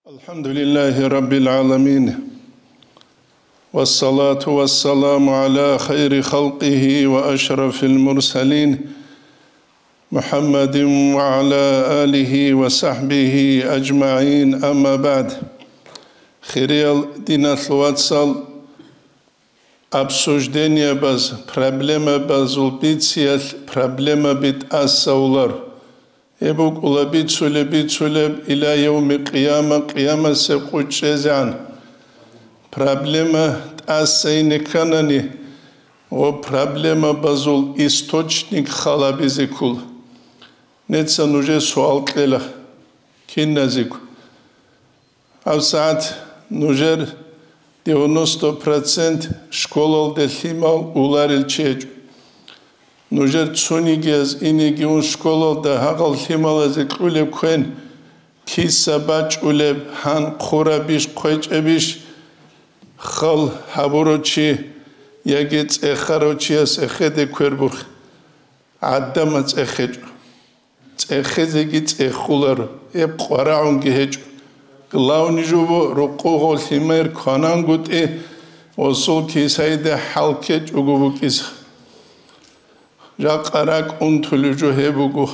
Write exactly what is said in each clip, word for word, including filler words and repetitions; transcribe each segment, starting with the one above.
الحمد لله رب العالمين، والصلاة والسلام على خير خلقه وأشرف المرسلين، محمد وعلى آله وصحبه أجمعين، أما بعد. Хириял диналъул вацал, обсуждениябаз, проблемабазул бициялъ проблемаби тӀасавулар. Гьеб букӀула бицулеб-бицулеб иля явми къияма, къиямасеб къо чӀезегӀан. Проблема тӀаса ине кканани, гъо проблемабазул источник халабизе ккола. Нижеца нужее суал кьела, киназего. ГьабсагӀат нужер девяносто процент школалде лъимал уларел чи гьечӀо. Нужер цонигияз инеги ун школалда гьагъал лъималазе кьулеб квен, киса бачӀулеб, гьан хъурабищ, хъвечӀебищ, хал гьабурав чи яги цӀехарав чияс эхеде квербухъ, гӀадамал цӀехечӀо. ЦӀехезеги цӀехуларо, гьеб къварагӀунги гьечӀо. Главный жо буго рокъов гъо лъимер кванангутӀи, гъосул кисаиде хӀал ккечӀого букӀизе. Жакъа ракӀ унтулев жо гьеб буго.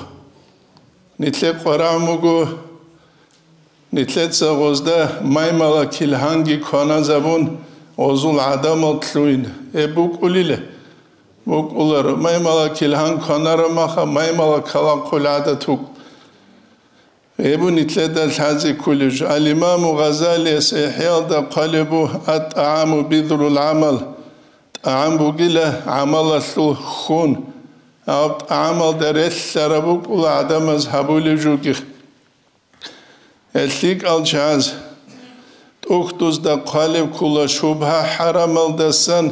Нилъер къварагӀун буго, нилъеца гъозда маймала килгьанги кваназабун, гъозул гӀадамал лъугьин. Гьеб букӀулила? БукӀуларо, маймала килгьан кванарамаха, маймала калахъул гӀадат вукӀ. Гьеб нилъеда лъазе кколеб жо. Ал-Имаму Гъазалияс ИхӀяалда хъвалеб буго: «Ат-тӀагӀаму бидгӀул гӀамал». ТӀагӀам бугила гӀамалалъул хьун. Гьаб тӀагӀамалда релълъараб букӀула гӀадамаз гьабулеб жоги. Гьел лъикӀал чагӀаз тӀухьдузда хъвалеб ккола шубгьа-хӀарамалдасан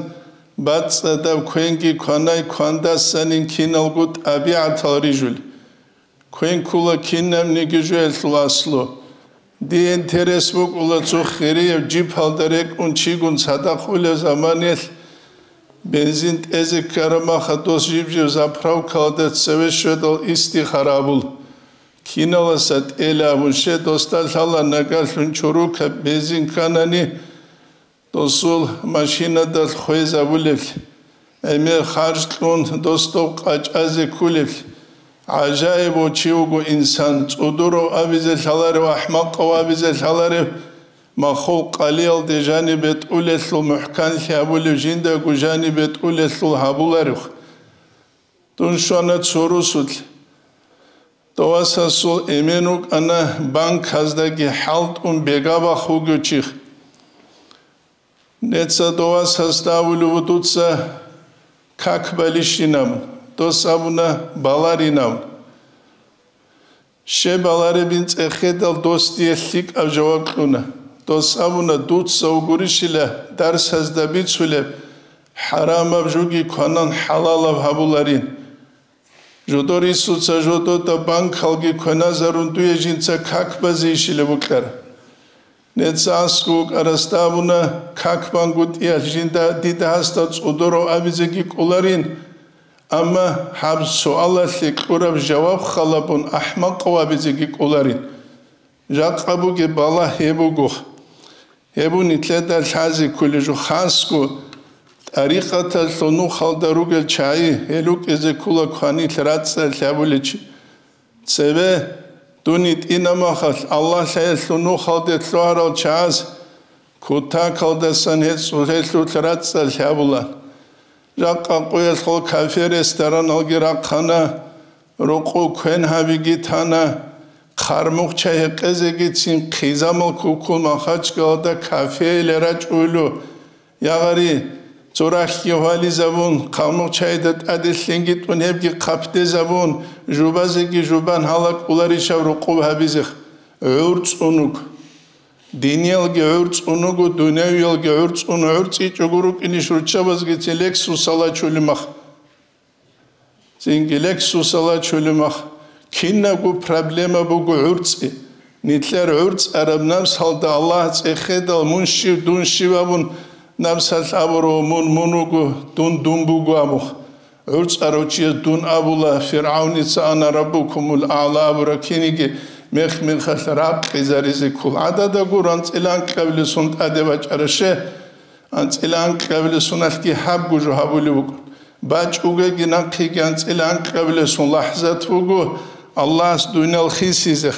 бацӀцӀадаб квенги кванай квандасанин киналго тӀабигӀатал рижулел. Квен ккола кинабниги жоялъул аслу. Дие интерес букӀула цо хирияб джипалда рекӀун чигун цадахъ улеб заманаялъ бензин тӀезе ккарамаха дос жиб-жиб заправкалда цеве щведал истихара абула. Киналаса тӀела абун щай досда лъала нагагьлъун чорокаб бензин кканани, досул машинадалъ хвезабулеблъи, гӀемер харж кьун досдов къачӀазе кколеблъи, гӀажаибав чи вуго инсан, цӀудурав абизе лъаларев, ахӀмакъав абизе лъаларев, махул къалиялде жанибе тӀулелъул мухӀканлъи абулев, жиндаго жанибе тӀулелъул гьабуларев. Дун щвана цо русулъ. Дов васасул эмен вукӀана банказдаги хӀалтӀун бегабахъ вугев чи. Нижеца дов васасда абулеб буго дуца как балищинаб, дос абуна баларинаб. Щай баларебин цӀехедал дос дие лъикӀаб жаваб кьуна. Дос абуна, дуца вугурищила дарсазда бицулеб, хӀарамаб жоги кванан хӀалалаб гьабуларин. Жодор инсуца жодода банкалги кваназарун дуе жинца как базейищила букӀар. Нижеца аскӀов вукӀарасда абуна, как бангутӀиялъ жинда дида гьасда цӀодорав абизеги кӀоларин, амма гьаб суалалъе кьураб жаваб халабун ахӀмакъав абизеги кӀоларин. Жакъа бугеб балагь гьеб буго. Гьеб нилъеда лъазе кколеб жо, хасго тӀарикъаталъул нухалда ругел чагӀи, гьел рукӀизе ккола кванилъ рацӀцӀалъ гьабулел чи. Цебе дун йитӀинаб махалъ, Аллагьлъиялъул нухалде лъугьарал чагӀаз кутакалдасан гьез цӀулъелъулъ рацӀцӀалъ гьабула. Жакъа къоялъ гъол кафе-рестораналги рахъана, рокъов квен гьабиги тана, хъармухъ чай гьекъезегицин хъизамал куккун Махачкалада кафеялъе рачӀуйла. Ягъари, цо рахьги гьвализабун, хъармухъ чайда тӀаде лъенги тӀун гьебги хъапдезабун, жубазеги жубан гьала кӀоларищав рокъов гьабизе? ГӀурцӀун вуго. Диниялги гӀурцӀун вуго, дунявиялги гӀурцӀун, гӀурцӀичӀого рукӀинищ руччабазгицин Лексусал ачулеб мах. Цинги Лексусал ачулеб мах. Кинабго проблема буго гӀурцӀи. Нилъер гӀурцӀараб напсалда Аллагь цӀехедал мун щив, дун щив абун напсалъ абуро, мун мун вуго, дун дун буго абухъ. ГӀурцӀарав чияс дун абула, ФиргӀавница «Ана раббукумул аъла» абураб киниги, Мех-мехалъ ракъизаризе ккола. ГӀадада гуро анцӀила анкьабилесун тӀаде бачӀараб щай, анцӀила анкьабилесуналъги гьабго жо гьабулеб букӀун. БачӀугеги нахъеги анцӀила анкьабилесун лахӀзат буго Аллагьас дуниял хисизе.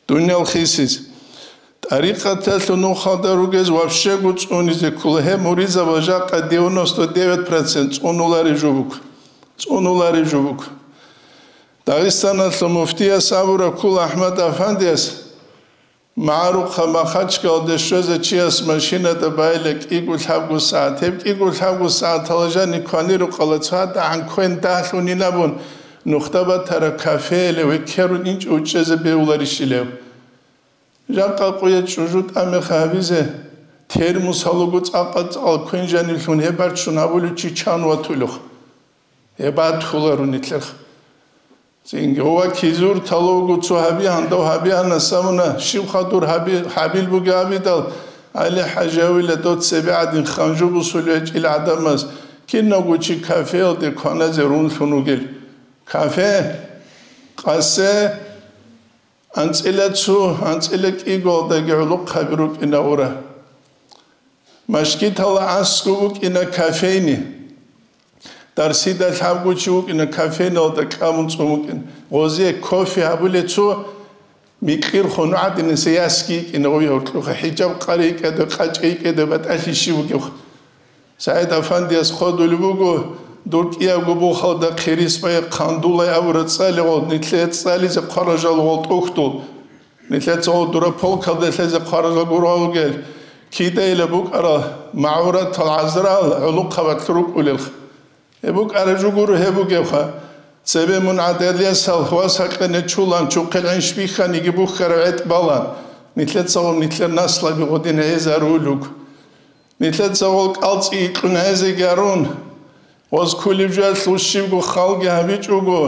Дуниял хисизе. ТӀарикъаталъул нухалда ругез вообще-го цӀунизе ккола. Гьеб муридзабаз жакъа девяносто девять процент цӀунулареб жо буго. ЦӀунулареб жо буго. Дагъистаналъул муфтияс абураб ккола Ахмад Афандияс, магӀарухъа Махачкалде щвезе чияс машинада байила кӀиго-лъабго сагӀат. Гьеб кӀиго-лъабго сагӀаталда жаниб кванирухъала цадагӀан квен дагьлъунин абун, нухда батараб кафеялде векерун инчӀо учӀезе бегьуларищилев? Жакъа къоялъ чӀужу тӀамеха гьабизе, термос гьалуго цӀакъа-цӀакъал квен жаниблъун гьеб бачун гьабулев чи чан ватулев? Гьеб батуларо нилъер. Цинги ва кизур талавго цо гьаби гьандав гьаби гьанас абуна, щибха дур гьаби-, гьабил бугеб абидал, ГӀали-хӀажи авила дов цебе гӀадин ханжу бусулев гьечӀил гӀадамаз, кинавго чи кафеялде кваназе рунлъун вугел. Кафе, къасе, анцӀила цу, анцӀила кӀигоялдаги гӀолохъаби рукӀина ура. Машгитала аскӀоб букӀина кофейни. Дарсида лъабго чи вукӀина, кофейналда кӀамун цӀун вукӀин. Гъозие кофе гьабулей цо микьирхун гӀадинасе ясги йикӀина гъой гьоркьухъа, хӀижаб къари йикӀаде, къачӀа йикӀаде батӀалъи щиб бугевха. СагӀид Афандияс хъодулеб буго, дур кӀиябго бухалда хъирис бай хъандулай абураб цӀали гъол, нилъее цӀализе хъваражал гъол тӀухьдул. Нилъеца гъол дура полкалда лъезе хъваражал гургъа вугел, кидайила букӀарал магӀуратал гӀазарал гӀолохъабалъ рукӀулелха. Гьеб букӀараб жо гуро гьеб бугевха, цебе мун гӀадалиясал вас гьакъине чулан чухъел гӀинш бихьаниги бухьараб гӀетӀ балан, нилъеца гъол нилъер наслаби гъодин гӀезарулуг. Нилъеца гъол кӀалцӀи икьун гӀезеги арун, гъоз кколеб жоялъул щибго халги гьабичӀого,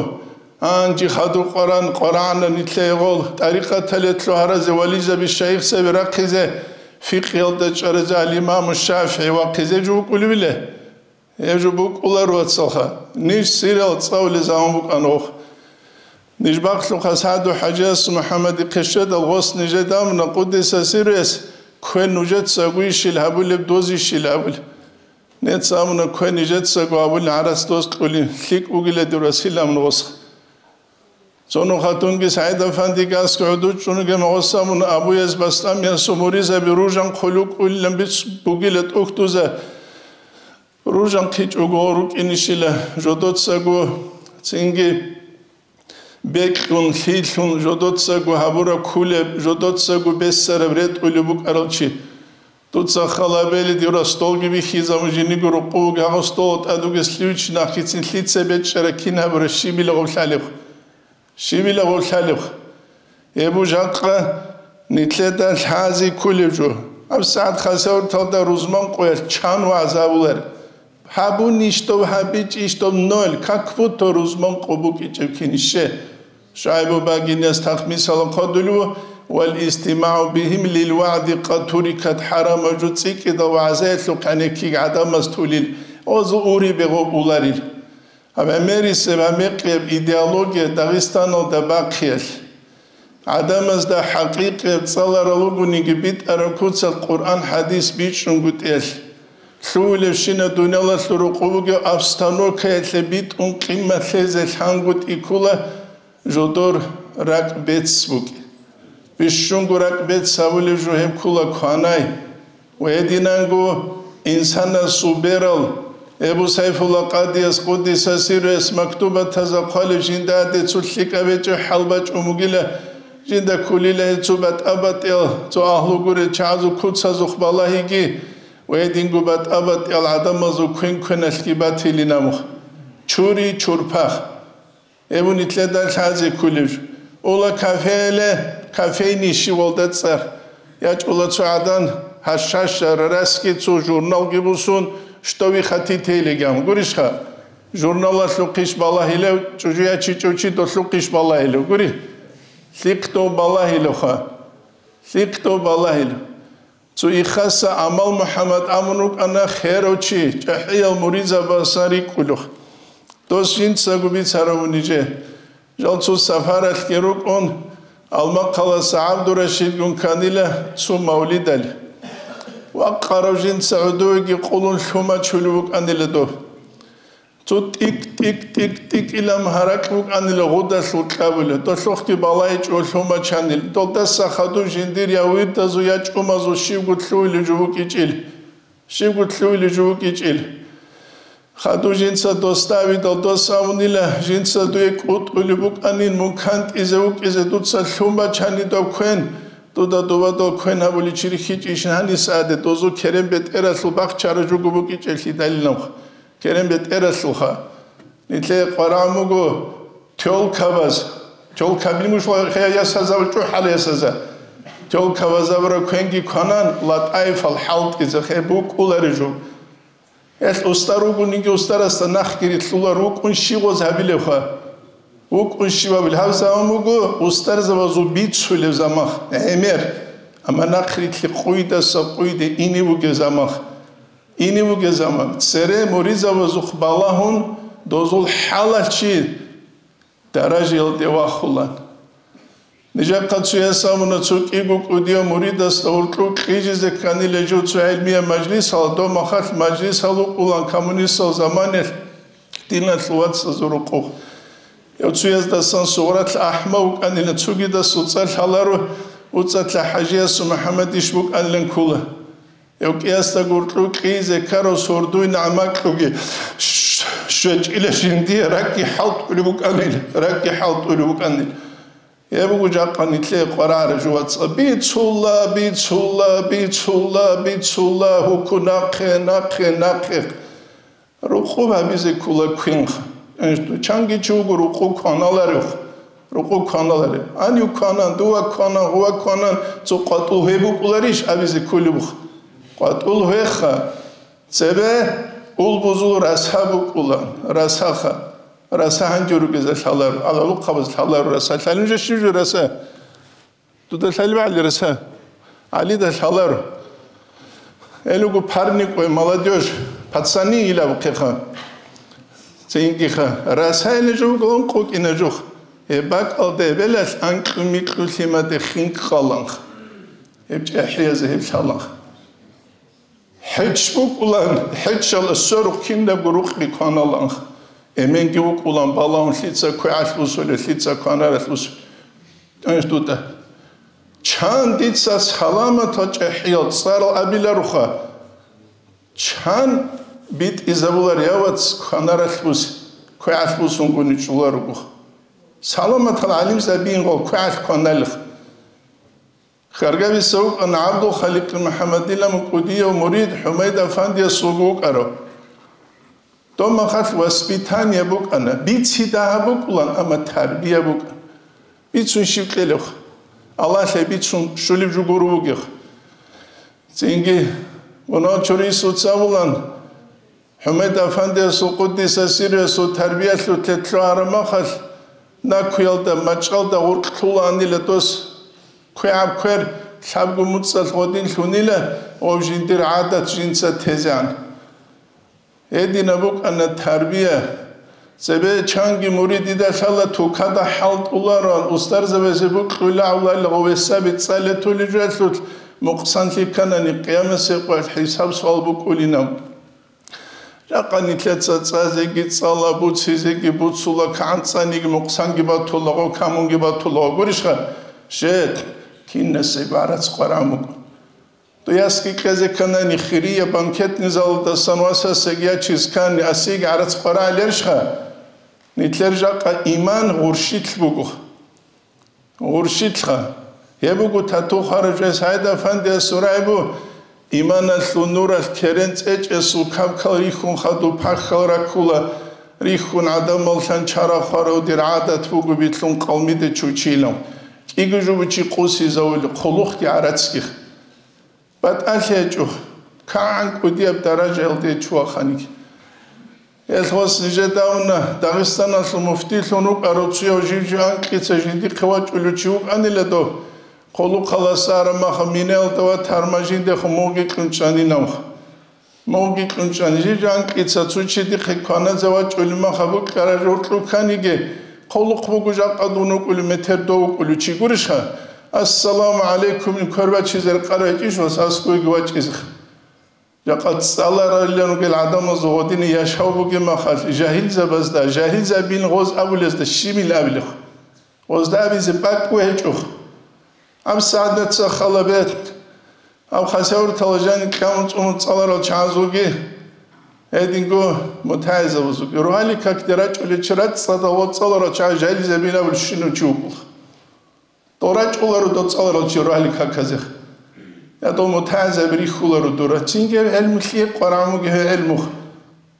гьанже хадуб Къуран къварагӀана нилъее гъол, тӀарикъаталъе лъугьаразе, вализаби, шайихзаби рахъизе, фикъгьиялда чӀваразе ал-Имаму ШафигӀи вахъизе жо вукӀулевиле? Гьеб жо букӀуларо, вацалха, ниж сирал цӀалулел заман букӀана гъох. Ниж бахълъухъа СагӀду-хӀажияс МухӀаммадихъе щведал гъос нижеда амуна, къуддиса сирругьу, квен нужецаго ищил гьабулеб, доз ищил гьабулеб. Нецаго амуна квен нижецаго гьабулин гӀарац доз кьулин, лъикӀ бугила дир васил амуна гъосха. Цо нух хатунги СагӀид-афандиги аскӀов гӀодов чӀунги гъос амуна Абу Язид БастӀамиясул муридзаби ружан хъулукъ уйилан бицун бугила тӀухьдуза. Ружан хъичӀого рукӀинищила жодоцаго цинги бекьун, лъилъун, жодоцаго гьабураб кколеб, жодоцаго бессараб ретӀулеб букӀарал чи. Дуца халабели дир столги бихьизабун жиниго рукъуги гьагъу стол тӀадуги лъивичи нахъицин лъица бечӀчӀараб кин гьабураб щибила гъорлъалеб. Щибила гъорлъалеб. Гьеб жакъа нилъеда лъази кколеб жо. АбсагӀат хасавурталда рузман къоялъ чан вагӀза абулар. Гьабунищ доб, гьабичӀищ доб, ноль, как будто рузман къо букӀичӀеб кинище. ШугӀайбу Багиниас тахмисалан хъодулев: «Вал истимагӀу бигьим лил вагӀди къад турикат хӀарама», жо цӀикӀкӀидал вагӀзаялъухъ гӀенеккиги гӀадамаз тулил, гъозул урибе гъоб уларил. Гьаб гӀемерисеб, гьаб мекъияб идеология Дагъистаналда бахъиялъ, гӀадамазда хӀакъикъияб цӀаларал ругониги битӀараб куцалъ Къуръан-хӀадис бичӀчӀунгутӀиялъ, лъугьулебщинаб дуниялалъул рукъу бугеб обстановкаялъе битӀун къимат лъезе лъангутӀи ккола жодор ракӀбец букӀин. Бищунго ракӀбец гьабулеб жо гьеб ккола кванай. Ва гьединанго инсанасул берал, Эбу Сайфулла Къадияс къуддиса сирругьу мактубатазда хъвалеб жинда гьаде цо лъикӀаб гьечӀеб хӀал бачӀун бугила, жинда кколила гьецо батӀа-батӀиял цо агьлу гурел чагӀазул куцазухъ балагьиги ва гьединго батӀа-батӀиял гӀадамазул квен-квеналъги батилин абухъ. Чури-чурпах. Эбу нилъеда лъазе кколеб жо. Ула кафеле, кафейный щивалда цӀар. ЯчӀула цо гӀадан гьашаша рараски цо журналги бусун, что вы хотите легам. Гурищха? Журналалъухъищ балагьилев, чӀужу ячичӀев чи долъухъищ балагьилев. Гури? Лъикъ дов балагьилевха. Лъикъ дов балагьилев. Цо ихаса Амал МухӀаммад абун рукӀана херав чи, чӀахӀиял муридзабасан рикӀкӀулев. Дос жинцаго бицарав нижее. Жал цо сапаралъги рукӀун, Алмахъаласа ГӀабдурашидгун кканила цо мавлидал. Вакъарав жинца гӀодовеги къулун лъумачулев вукӀанила дов. Цо тӀик-тӀик-тӀик-тӀик илан гьаракь букӀанила гъудалъул кьабулеб, долъухъги балайчӀо лъумачанил, долдаса хадуб жиндир я вирдазул, я чӀумазул щибго лъугьулеб жо букӀичӀил. Щибго лъугьулеб жо букӀичӀил. Хадуб жинца досда видал дос абунила, жинца дуе кӀутӀулеб букӀанин, мун кантӀизе вукӀизе дуца лъумачани доб квен, дуда дубадал квен гьабуличи рихьичӀищин гьаниса гьаде, дозул керен бетӀералъул бахчара жуго букӀичӀеллъидалиланха. Керен бетӀералъулха. Нилъее къварагӀун буго тёлкабаз. Тёлкаби муш ва хе ясаза ва чӀухӀал ясаза. Тёлкабазабра квенги кванан, латӀаифал хӀалтӀизе хе букӀулари жо. Гьелъ устар вугониги устарасда нахъги рилълъула, рукӀун щиваз гьабилевха. ВукӀун щивабил гьаб заман буго, устарзабазул бицулев замах, гӀемер. Амма нахърилълъи къуйдаса къуйде ине вугев замах. Ине вугев заман, цере муридзабазухъ балагьун, дозул хӀалалъ чи даражаялде вахулан. Нижехъа цояс абуна, цо кӀиго кӀудияв муридасда гьоркьов кьижизе кканила жо цо гӀелмияб мажлисалда, доб махалъ мажлисал вукӀулан коммунистал заманалъ диналъул вацазул рукъухъ. Гьев цояздасан сугъралъ ахӀмав вукӀанила, цогидасул цӀа лъаларо, уцӀалъа ХӀажиясул МухӀаммадиш букӀанилан ккола. Гьев кӀиясда гьоркьов кьизе ккарав сордуй нагӀмакьуги щвечӀила жиндие ракӀги хӀалтӀулеб букӀанил, ракӀги хӀалтӀулеб букӀанил. Гьеб буго жакъа нилъее къварагӀараб жо, вацӀа. Бицула, бицула, бицула, бицула, гьуку нахъе, нахъе, нахъе. Рукъу гьабизе ккола квинха. Чанги чи вуго рукъу кваналарев. Рукъу кваналарев. Гьанив кванан, дува кванан, гъува кванан, цо къватӀул гьеб букӀуларищ абизе кколеб бух? КъватӀул гьеха. Цебе улбузул раса букӀула, расаха. Раса гьанже ругеза лъалар, алалухъабаз лъалар раса. Лъалин жо щив жо раса? Дуда лъалеб гӀали раса? ГӀалида лъалар. Элугу парник ой, молодёжь, пацани илабухъеха. Цинкиха, расайна жугун къукӀина жух. Гьеб бакӀалда эбелалъ анкьу-микьу лъимаде хинкъаланха. Гьеб чӀехӀиязе гьеб лъаланха. ХӀеч букӀулан, хӀечала сверухъ кинабго рукъби кваналанха. Эменги вукӀулан балагьун лъица квегӀалъ бусулев, лъица кванаралъ бусулев. Тянш дуда. Чан дица саламатал чӀехӀиял цӀарал абиларуха? Чан битӀизабулар явац кванаралъ бус, квегӀалъ бусунгуни чӀуларугуха? Саламатал гӀалимзабиин гъол квегӀалъ кваналиха. Хьаргависа вукӀана ГӀабдулхаликъ МухӀаммадилан кӀудияв мурид ХӀумайд Афандиясулго вукӀарав. Доб махалъ воспитание букӀана, бицидагьаб букӀулан, амма тарбия букӀана. Бицун щив кьелевха? Аллагьлъи бицун щулеб жо гуро бугевха. Цинги мунагьал чорисуца абулан, ХӀумайд Афандиясул къуддиса сирруясул тарбиялъулъе лъугьараб махалъ, накуялда, мачӀалда гъоркь лъулаанила дос. КвегӀаб квер лъабго муцӀалъ гъодин лъунила, гъов жиндир гӀадат жинца тезегӀан. Гьединаб букӀана тарбия. Цебе чанги муридида лъала тукада хӀалтӀулароан, устарзабазе букьула гӀавлал гъовесаби цӀалетулел жоялъулъ мукъсанлъи кканани, къиямасеб къоялъ хӀисаб-суал букӀулинаб. Жакъа нилъеца цӀазеги цӀала, буцизеги буцула, кагӀанцӀаниги мукъсанги батулаго, камунги батулаго. Гурищха? Жет, кинасе гӀарац къваран букӀун. Дуясги кьезе кканани хирия банкетный залалдасан васасеги ячиз ккани асиги гӀарац къварагӀел ярищха? Нилъер жакъа иман гъурщилъ буго. Гъурщилъха. Гьеб буго тату хварав жес гьайда фандиас сурайбу, иманалъул нуралъ керен цӀечӀесул кабкал рихьун хадуб пахьал раккула, рихьун гӀадамал лъанчара хварав дир гӀадат буго билълъун къалмиде чучилан. КӀиго жубучи къусизавули, хъулухъги гӀарацги. БатӀалъи гьечӀо, кагӀан кӀудияб даражаялде чуаханиги. Гьелъ гъос нижеда уна, Дагъистаналъул муфтилъун вукӀарав цуяв жив-жив анкьица жиндихъе вачӀулев чи вукӀанила дов, хъулухъаласа араб маха минаялда ватарма жиндехун мугъги кьунчӀанинавха. Мугъги кьунчӀани, жив-жив анкьица цо чи дихъе кваназе вачӀулеб маха букӀараб жо кьуканиги, Хъулухъ буго жакъа дун вукӀулев, метер дов вукӀулев чи гурищха? Ассаламу гӀалайкумил квербачизе рекъарай гьечӀищ ва аскӀовеги вачӀизеха. Жакъа цӀалараллъун ругел гӀадамазул гъодине яшав бугеб махалъ, жагьилзабазда, жагьилзабин гъоз абулезда щибил абилеб? Гъозда абизе бакӀ гьечӀо. Гьаб сагӀат халабе, гьаб хасавуртала жани кьамун цӀунун цӀаларал чагӀазулги, гьединго мутагӀилзабазулги. Рогьалил какде рачӀулел чи рацӀцӀадал ва цӀаларал чагӀаз жагьилзабин абулеб щинав чи вукӀула. Дов рачӀуларо дов цӀаларал чи рогьалил каказеха. Я дов мутагӀилзаби рихьуларо дура. Цинги гьеб гӀелму лъие къварагӀун бугеб гьеб гӀелмуха.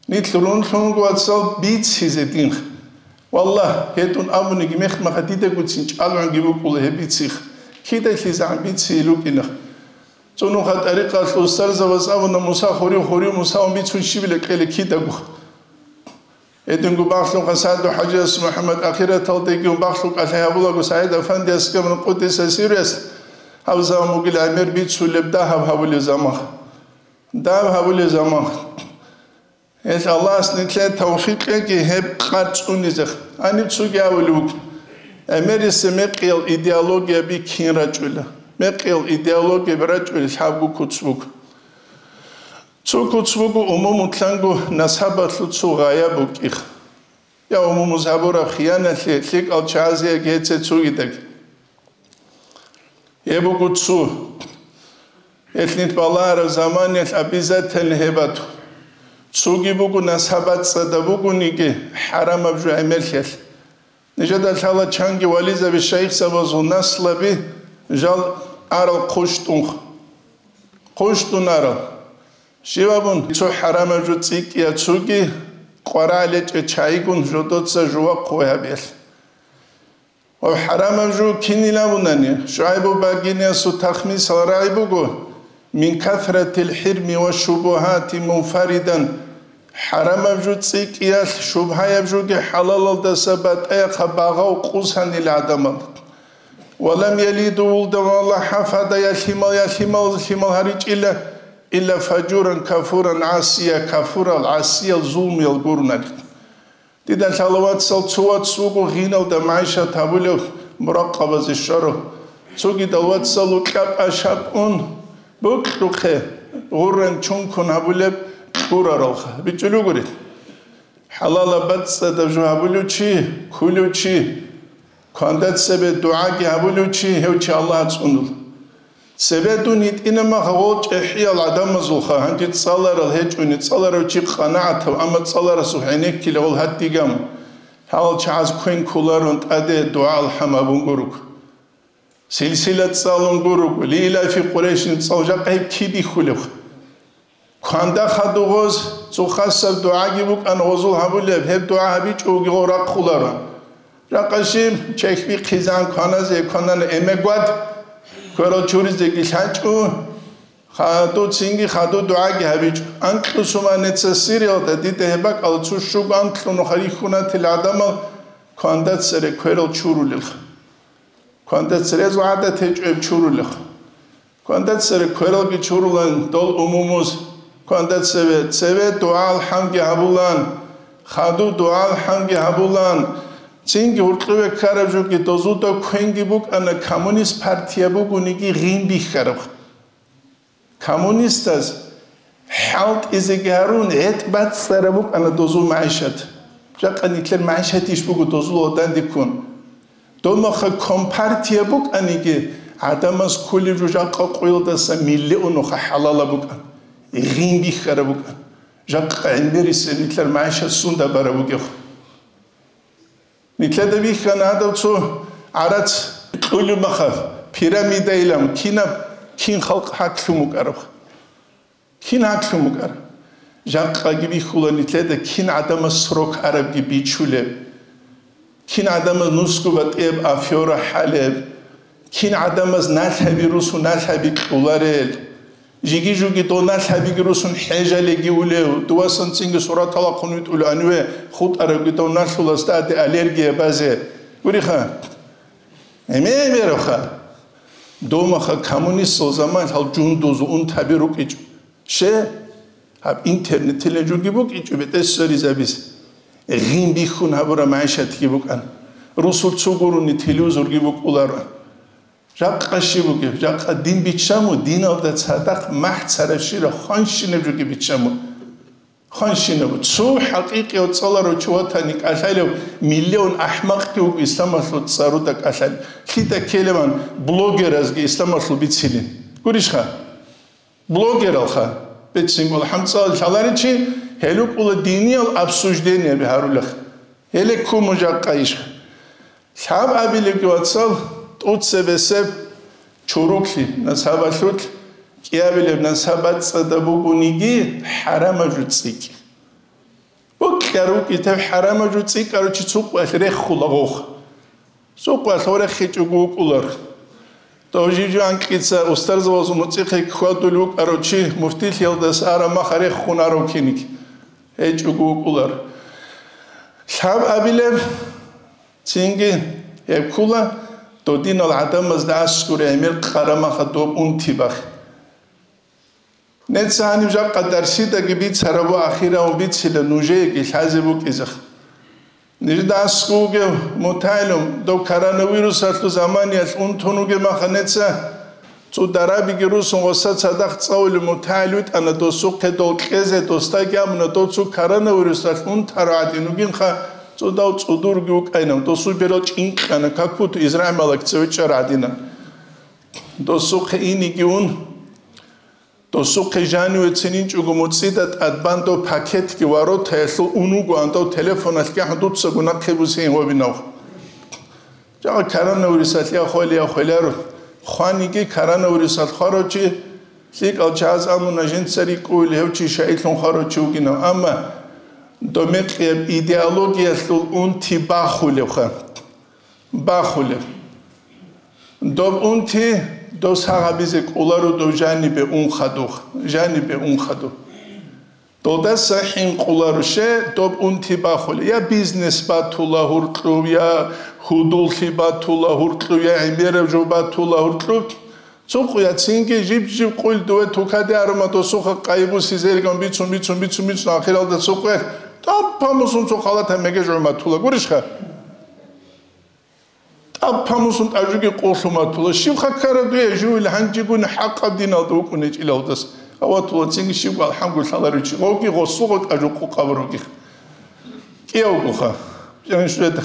Нилъ рунлъун вацал бицизе динха. Валлагь, гьедун абуниги мехмаха дидагуцин чӀалгӀунги букӀула гьеб бицих. КидахьлъизегӀан бициил рукӀинах. ЦӀунуха тӀарикъалъул устарзабаз абуна, Муса хурив, хурив Мусаван бицун щибила кьела кидагуха. Гьединго бахлъун Хасаду ХӀажияс МухӀаммад ахираталдегиун бахлъун кӀалъай гьабулаго СагӀид Афандияс гамрун къудиса сируяс гьаб заман бугил гӀемер бицулеб дагьаб гьабулеб заман. Дагьаб гьабулеб заман. Гьелъ Аллагьас нилъее тавфикъ кьеги гьеб къад цӀунизе. Гьаниб цоги абулеб буго. ГӀемериса мекъиял идеологияби кин рачӀула. Мекъиял идеологияби рачӀула лъабго куц буго. Цо куц буго умумулъанго насабалъул цо гъая букӀих. Я умумуз гьабураб хияналъе лъикӀал чагӀазе гьеце цогидаги. Гьеб буго цо. Гьелъ нилъ балагьараб заманиялъ обязательно гьеб бату. Цоги буго насаб бацӀцӀадаб бугониги хӀарамаб жо гӀемерлъиялъ. Нижеда лъала чанги вализаби шайихзабазул наслаби жал арал хъущтӀунха. ХъущтӀун арал. Щиб абун, цо хӀарамаб жо цӀикӀкӀия цоги къварагӀлечӀе чайигун жодоца жува хъугьай гьабиялъ. Ва хӀарамаб жо кинил абунани, ШугӀайбу багиниасул тахмисал рагӀи буго, мин касратил хӀирми ва шубугьати мунфаридан, хӀарамаб жо цӀикӀкӀиялъ шубгьаяб жоги хӀалалалдаса батӀаяхъа багъав къусанил гӀадамал. Ва лам ялиду вулдан ва ла хӀафада, я лъимал, я лъимал, лъимал гьаричӀила, илла фажуран кафуран гӀасия, кафурал, гӀасиял, зулмиял гурунаги. Дида лъала вацал цо вац вуго гъиналда магӀишат гьабулев, муракъабазе щварав. Цогидал вацал укьа-пӀа шапӀун букьухъе, гъуррен чункун гьабулеб кьураралха. БичӀчӀулугури. ХӀалалаб бацӀцӀадаб жо гьабулев чи, ккулев чи, кванда цебе дугӀаги гьабулев чи, гьев чи Аллагь цӀунула. Цебе дун йитӀина мах гъол чӀехӀиял гӀадамазулха, гьанже цӀаларал гьечӀони, цӀаларав чи къанагӀатав, амма цӀаларасухъ гӀенеккила гъол гьадигам, гьал чагӀаз квен кколарун тӀаде дугӀа-алхӀам гьабун гуруго. Силсила цӀалун гуруго, лилафи Къурайшин цӀал жакъа гьеб кибихьулев? Кванда хадув гъоз, цо хасаб дугӀаги букӀан гъозул гьабулеб, гьеб дугӀа гьабичӀого гъо рахъуларо. Жакъа щиб, чехь бихъизан кваназе кванана эмегвад, кверал чуризеги лъачӀо, хадув цинги хадув дугӀаги гьабичӀо. Анкьусуманица Сириялда дида гьеб бакӀал цо щуго анкьун харихьунатил гӀадамал кванда цере кверал чурулелха. Кванда цере гӀадат гьечӀеб чурулех. Кванда цере квералги чурулан дол умумуз, кванда цеве, цеве дугӀа-алхӀамги гьабулан, хадув дугӀа-алхӀамги гьабулан, цинги гьуркьуве ккараб жоги дозуда квенги букӀана, коммунист партия бугониги гъин бихьараб. Коммунистаз хӀалтӀизеги гьарун, гӀетӀ бацӀцӀараб букӀана дозул магӀишат. Жакъа нилъер магӀишат иш буго дозул гьадандиккун. Дов махъа компартия букӀаниги, гӀадамаз кколеб жо жакъа къоялдаса миллионуха хӀалалаб букӀан, гъин бихьараб букӀан. Жакъа гӀемерисеб нилъер магӀишат сунда бараб бугеб? Нилъеда бихьана гьадав цо гӀарац кьулеб махалъ, пирамидайилан кинаб, кин халкъ гьаклъун букӀараб? Кин гьаклъун букӀараб? Жакъаги бихьула нилъеда кин гӀадамаз срок арабги бичулеб, кин гӀадамаз нусго батӀияб афера хӀалеб, кин гӀадамаз налъаби русун налъаби кьуларел, жиги-жуги дов налъабиги русун хӀежалеги улев, дувасан цинги сураталахъун витӀулев гьаниве хутӀарабги дов налъулас тӀаде аллергия базе. Гуриха, гӀемер-гӀемеравха, домаха коммунистал заман гьал жундуз унтаби рукӀичӀо. Ще, гьаб интернетилан жуги букӀичӀо бетӀер сверизабиз. Гъин бихьун гьабураб магӀишатги букӀан. Русул цо гурони телевизорги букӀуларо. Жакъа щиб бугеб? Жакъа дин биччамо, диналда цадахъ махӀ царабщира хванщинаб жоги биччамо. Хванщинаб. Цо хӀакъикъияв цӀаларав чи ватани кӀалъалев миллион ахӀмакъги вуго исламалъул цӀаруда кӀалъалев. Лъида ккелеван блогеразги исламалъул бицилин. Гурищха? Блогералха. Бецинго хӀанцӀал лъаларичи, гьелукӀула диниял обсуждениеби гьарулех. Гьеле ккун мужакъа иш. Лъаб абилебги, вацал, тӀуцебесеб чуруклъи насабалъулъ, кӀиабилеб насаб бацӀцӀадаб бугониги, хӀарамаб жо цӀикӀ. Букьа рукӀи тев хӀарамаб жо цӀикӀарав чи цукъвалъ реххула гъох. Цукъвалъ гъореххичӀого вукӀулар. Дов жив-жив анкьица устарзабазул муцӀихъе хьвадулев вукӀарав чи муфтилъиялдаса араб мах реххун арав киниг гьечӀого вукӀулар. Лъаб абилеб, цинги гьеб ккула, додинал гӀадамазда аскӀуре гӀемер къарамаха доб унти бахъ. Нецца гьаниб жакъа дарсидаги бицарабу ахирав бицила нужееги лъазе букӀизех. Нижда аскӀов вугев мутагӀилум, дов коронавирусалъул заманиялъ унтун вугеб маха нецца цӀударабиги русун гъоса цадахъ цӀалулев мутагӀил витӀана досухъе дол кьезе, досдаги абуна, дов цо коронавирусалъ унтарав гӀадин вугинха, цӀудав цӀудурги вукӀайнав, досул берал чӀинкьана, как будто Израиль малак цеве чӀар гӀадина. Досухъе иниги ун, досухъе жаниве цининчӀого муцӀида тӀадбан дов пакетги воротаялъул ун вугоан дов телефоналъ гахӀун дуцаго нахъе бусейин гьобинав. Жагъа коронавирусалъ я хвели, я хвеларо. Хваниги коронавирусалъ хварав чи, лъикӀал чагӀаз амуна жинца рикӀкӀуйли гьев чи шайилъун хварав чи вугинав. Амма домекъияб идеологиялъул унти бахулевха. Бахулеб. Доб унти дос гьагъабизе кӀоларо дов жанибе ун хадух, жанибе ун хадух. Долдаса хӀинкъуларо ше доб унти бахулеб. Я бизнес батула гьуркьуб, я гьудуллъи батула гьуркьуб, я гӀемераб жо батула гьуркьуб. Цо къуяцинги жиб-жиб къуйл дуе тукаде арума досуха къайбуси зерган бицун, бицун, бицун, бицун ахиралда цо къуялъ таппа мусун цо халата мегеж гӀуматула. Гурищха? ТӀад памусун тӀажуги къуллъу матула. Щиб хаккара дуе, жугьил гьанжегуни хӀакъаб диналда вукӀун гьечӀилалдас. Аватула цинги щиб алхӀамгу лъаларев чи. Гъовги гъосуго тӀажу къукъаб ругих. КӀиявгуха. Жанишуледа.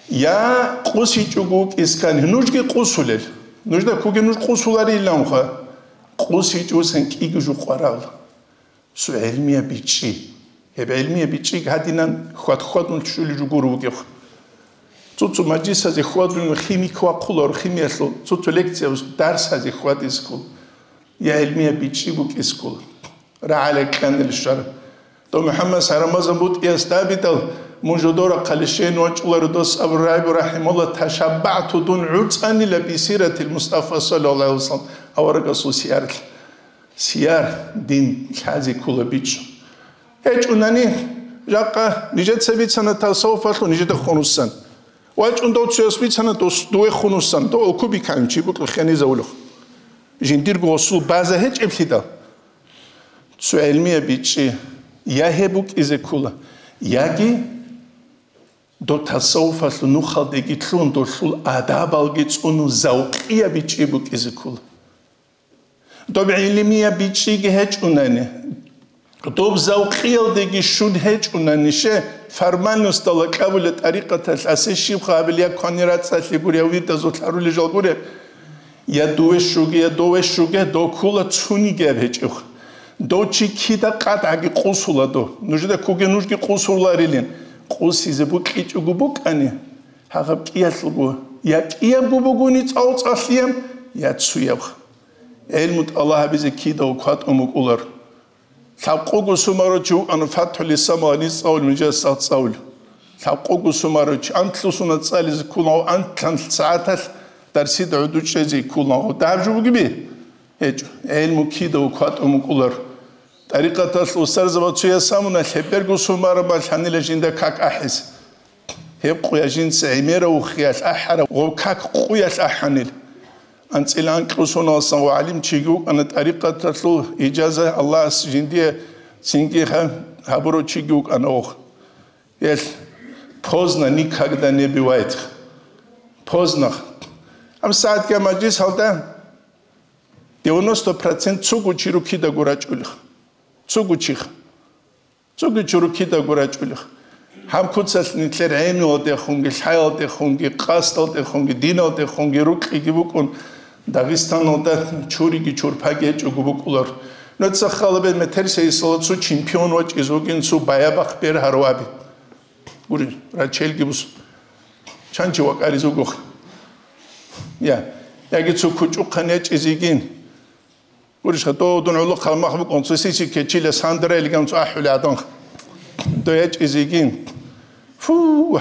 Я къусичӀого вукӀискан, нужги къусулел. Нужда куги нуж къусулариланха. КъусичӀусан кӀиги жу къварал. Цо гӀелмияб бичӀчӀи. Гьеб гӀелмияб бичӀчӀиги гьадинан хьвад-хьвадун щулел жугур вугев. Цо-цо мажлисазе хьвадун химик вахъуларо, химиялъул, цо-цо лекция дарсазе хьвадизкул, я гӀелмияб бичӀчӀи букӀискул. РагӀалай кьанил щвар. Дов МухӀаммад Сарамазан бутӀияс дабидал, мун жодора хъалищейн вачӀуларо дос Абу Райбу рахӀимулла, ташаббагӀту дун гӀуцӀанила бисиратил Мустафа саллаллагьу гӀалайгьи вассалам, аварагасул сиярлъ. Сияр, дин лъазе ккола бичӀчӀун. ГьечӀунани, жакъа нижеца бицана тасаввуфалъул нижеда хунусан. ВачӀун дов цояс бицана дос дуе хунусан, дов алкубиканчи букӀа хенизавулев. Жиндирго гъосул база гьечӀеблъидал. Цо гӀелмияб бичӀчӀи я гьеб букӀизе ккола, яги дов тасаввуфалъул нухалдеги лъун долъул адабалги цӀунун завкъияб бичӀчӀи букӀизе ккола. Доб гӀилмияб бичӀчӀиги гьечӀунани, доб завкъиялдеги щун гьечӀунани, ше формальностала кьабула тӀарикъаталъ асе щибха абил я квани рацӀцӀалъи гури, я вирдазул лъарули жал гури, я дуве щуге, я дове щуге, дов ккула цунигияб гьечӀев. Дов чи кида къатӀаги къусула дов. Нужеда ккуге нужги къусуларилин. Къусизе букьичӀого букӀани, гьагъаб кӀиялъулго, я кӀиябго бугони цӀалцӀалъияб, я цуяб. ГӀилму тӀалаб гьабизе кидаго кватӀун букӀулар. Лъабкъого сумарав чи вукӀана ФатхӀул Исламалда гьанив цӀалул, мижас цӀалул. Лъабкъого сумарав чи, антлъусуна цӀализе ккулаго, антлъан сагӀаталъ дарсида гӀуду чӀезе ккулаго. Дагьаб жо бугеби? ГьечӀо. ГӀилму кидаго кватӀун букӀулар. ТӀарикъаталъ устарзабаз цояс абуна, лъеберго сумараб лъанила жинда как ахӀизе. Гьеб къуя жинца гӀемерав вухиялъ ахӀараб гъоб как къуялъ ахӀанил. АнцӀила анкьго соналдасан ва гӀалимчиги вукӀана, тӀарикъаталъул ижаза Аллагьас жиндие цинги гьа-, гьабурав чиги вукӀана гъов. Гьелъ Поздно никогда не бывает. Поздно. Ам сагӀатга мажлисалда девяносто процент цугу чи рукидаго рачӀулех. Цугу чих. Цугу чи рукидаго рачӀулех. Гьаб куцалъ нилъер гӀемиялдехунги, лъаялдехунги, къасдалдехунги, диналдехунги рукьиги букӀун, Дагъистаналда чуриги чурпаги гьечӀого букӀулар. Нуца халабе метерсейисала цо чемпион вачӀиз вугин, цо баябахъ бергьарав абе. Гури, рачелги бус. Чанчи вакӀариз вугох. Я, яги цо кучӀухъан ячӀиз йигин. Гурищха, дов дун гӀолохъал мах букӀун, цо сиси кечила сандра илган цо ахӀули адан. Дов ячӀиз йигин. Фу,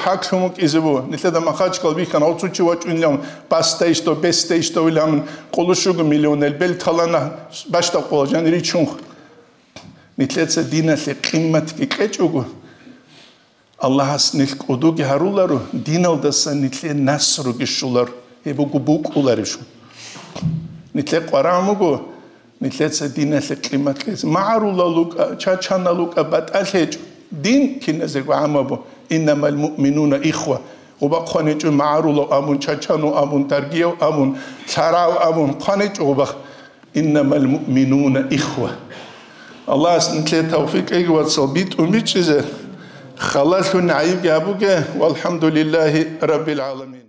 хӀаклъун вукӀизе бу. Нилъеда Махачкал бихьана, гьав цо чи вачӀунилан, баста ишдо, бесте ишдо илан, къулущуго миллионел бел талана, башта къола жан ричун. Нилъеца диналъе къимматги кьечӀого, Аллагьас нилъ кӀудуги гьаруларо, диналдаса нилъе насруги щоларо, гьеб буго букӀуларищ. Нилъе къварагӀун буго, нилъеца диналъе къиммат кьезе. МагӀарулал рукӀа, чачанал рукӀа, батӀалъ гьечӀо. Дин киназего гӀамабу, иннамал муъминуна ихва. Гъуба хъван гьечӀо магӀарулав абун, чачанав абун, даргияв абун, лъарав абун, хъван гьечӀо гъубах. Иннамал муъминуна ихва. Аллагьас нилъее тавфикъ кьеги, вацал, битӀун бичӀчӀизе, халалъун гӀайибги гьабуге, валхӀамдулиллагьи раббил гӀаламин.